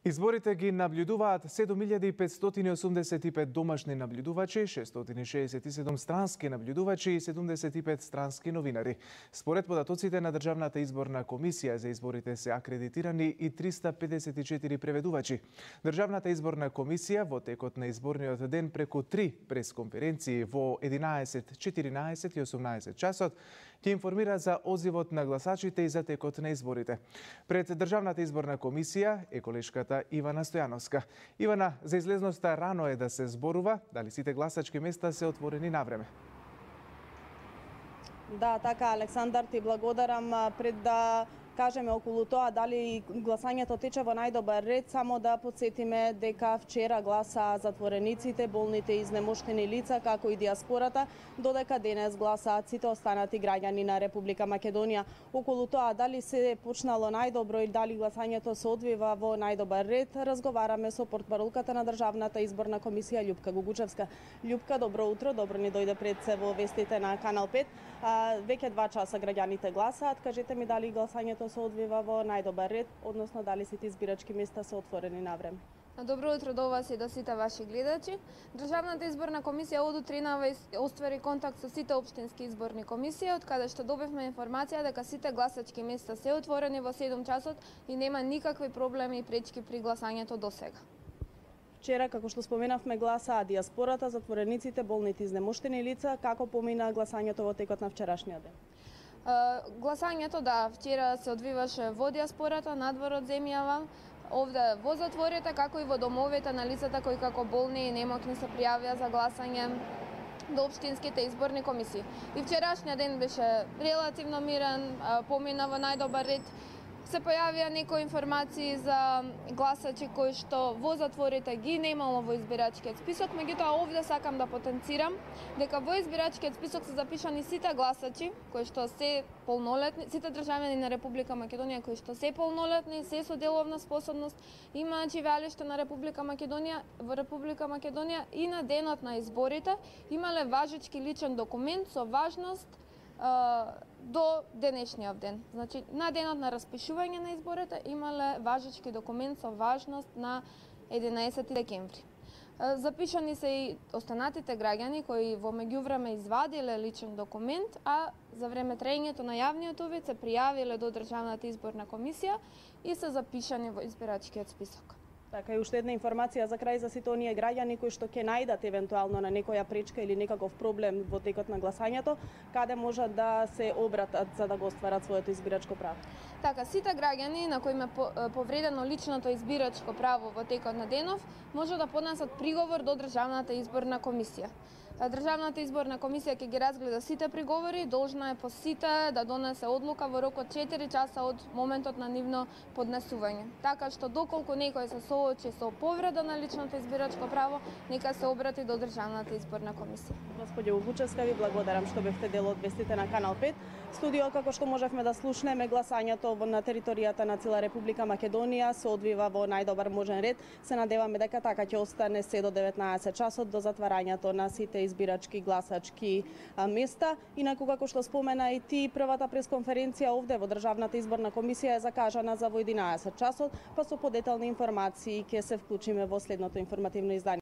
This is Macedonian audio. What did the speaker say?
Изборите ги наблюдуваат 7585 домашни наблюдувачи, 667 странски наблюдувачи и 75 странски новинари. Според податоците на Државната изборна комисија за изборите се акредитирани и 354 преведувачи. Државната изборна комисија во текот на изборниот ден преку 3 пресконференции во 11, 14 и 18 часот ќе информира за одзивот на гласачите и за текот на изборите. Пред Државната изборна комисија е колешката Ивана Стојановска. Ивана, за излезноста рано е да се зборува, дали сите гласачки места се отворени навреме? Да, така, Александар, ти благодарам. Пред да кажеме околу тоа дали гласањето тече во најдобар ред, само да подсетиме дека вчера гласаа затворениците, болните и изнемоштени лица, како и диаспората, додека денес гласаат сите останати граѓани на Република Македонија. Околу тоа дали се почнало најдобро и дали гласањето се одвива во најдобар ред, разговараме со портпаролката на Државната изборна комисија Љупка Гугучевска. Љупка, добро утро, добро ни дојде пред се во вестите на Канал 5. Веќе 2 часа граѓаните гласаат. Кажете ми дали гласањето се одвива во најдобар ред, односно дали сите избирачки места се отворени навреме. Добро утро до вас и до сите ваши гледачи. Државната изборна комисија од утринава оствари контакт со сите општински изборни комисии, од каде што добивме информација дека сите гласачки места се отворени во 7 часот и нема никакви проблеми и пречки при гласањето до сега. Вчера, како што споменавме, гласаа диаспората, затворениците, болните и изнемоштени лица. Како помина гласањето во текот на вчерашниот ден? Гласањето, да, вчера се одвиваше во диаспората, надвор од земјава, овде во затворите, како и во домовите на лицата кои како болни и немокни се пријавија за гласање до општинските изборни комисии. И вчерашниот ден беше релативно мирен, помина во најдобар ред. Се појавија некои информации за гласачи кои што во затворите ги немало во избирачкиот список, меѓутоа овде сакам да потенцирам дека во избирачкиот список се запишани сите гласачи кои што се полнолетни, сите државјани на Република Македонија кои што се полнолетни, се со деловна способност, имаат живеалиште на Република Македонија, во Република Македонија и на денот на изборите имале важечки личен документ со важност до денешниот ден. Значи, на денот на распишување на изборите имале важечки документ со важност на 11 декември. Запишани се и останатите граѓани кои во меѓувреме извадиле личен документ, а за време траењето на јавниот увид се пријавиле до Државната изборна комисија и се запишани во избирачкиот список. Така и уште една информација за крај за сите оние граѓани кои што ќе најдат евентуално на некоја пречка или некаков проблем во текот на гласањето, каде можат да се обратат за да го остварат своето избирачко право. Така, сите граѓани на кои им е повредено личното избирачко право во текот на денов, може да поднесат приговор до Државната изборна комисија. Државната изборна комисија ќе ги разгледа сите приговори, должна е по сите да донесе одлука во рок од 4 часа од моментот на нивно поднесување. Така што доколку некој се соочи со повреда на личното избирачко право, нека се обрати до Државната изборна комисија. Господје Гугучевска, ви благодарам што бевте дел од вестите на Канал 5. Студио, како што можевме да слушнеме, гласањето на територијата на цела Република Македонија се одвива во најдобар можен ред. Се надеваме дека така ќе остане се до 19 часот до затварањето на сите избирачки гласачки места. Инаку, како што спомена и ти, првата пресконференција овде во Државната изборна комисија е закажана за во 11 часот, па со подетални информации ќе се вклучиме во следното информативно издание.